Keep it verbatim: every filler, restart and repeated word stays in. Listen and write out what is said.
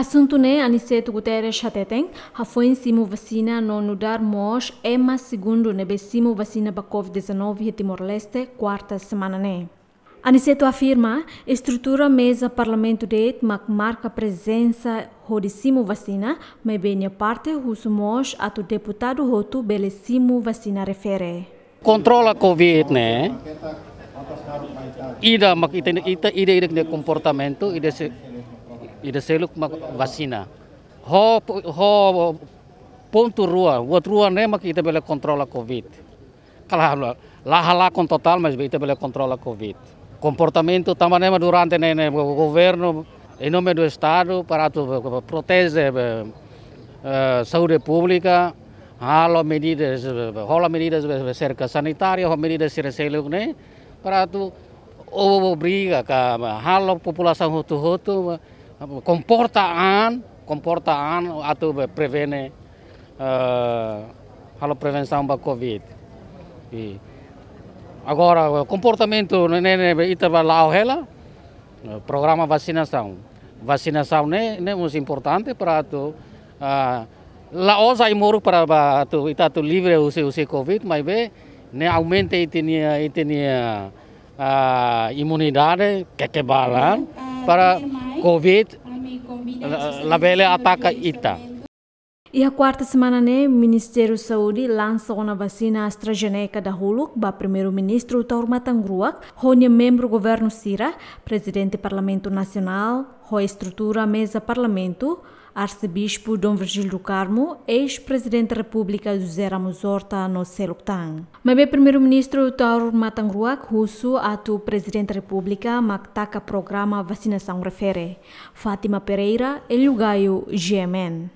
Asuntu ne'e Aniceto Guterres hateten, hafoin simu vasina no nu'udar mós ema segundu ne'ebé simu vasina ba covid dezanove iha Timor-Leste, kuarta semana ne'e. Aniceto afirma, estrutura meza Parlamentu de'it mak marka prezensa hodi simu vasina, maibé nia parte husu mós atu deputadu hotu bele simu vasina refere. Kontrola covid ne'e, ida mak ita, ita, ida, ida nia komportamentu, ida se, ida seluk mak vasina. Ho, ho pontu rua, buat rua ne'e mak ita bele kontrola covid. Kala la, la halakon totál, maibé ita bele kontrola covid. Komportamentu tanba ne'e mak durante ne'e, ne'e go-, governu, em nome do Estado, para atu proteje, eh, eh, saúde públika, halo medidas, eh, hola medidas, eh, serka sanitária, ho medidas sira seluk ne'e, para atu obriga ka halo populasaun hotu-hotu, eh, komporta an, komporta an atu prevene, eh, halo prevensaun ba covid. I agora, komportamentu ne'e, ne'e, ita ba la'o hela, eh, programa vasinasaun. Vasinasaun ne'e, ne'e mós importante para atu, ah, la'ós ai-moruk para ba atu, ita atu livre husi, husi covid, maibé ne'e aumenta ita-nia, ita-nia, ah, imunidade, kekebalan, para covid la, labele ataka ita. Iha kuarta semana ne'e, Ministériu Saúde lansa ona vasina AstraZeneca dahuluk ba Primeiru-Ministru Taur Matan Ruak, ho nia membru governu sira, Prezidente Parlamentu Nasionál, ho estrutura meza Parlamentu, Arsebispu Dom Virgílio do Carmo, eis-Prezidente Repúblika José Ramos Horta no seluk tan. Maibé Primeiru-Ministru Taur Matan Ruak husu atu Prezidente Repúblika mak taka programa vasinasaun refere. Fátima Pereira, Hélio Gaio, G M N.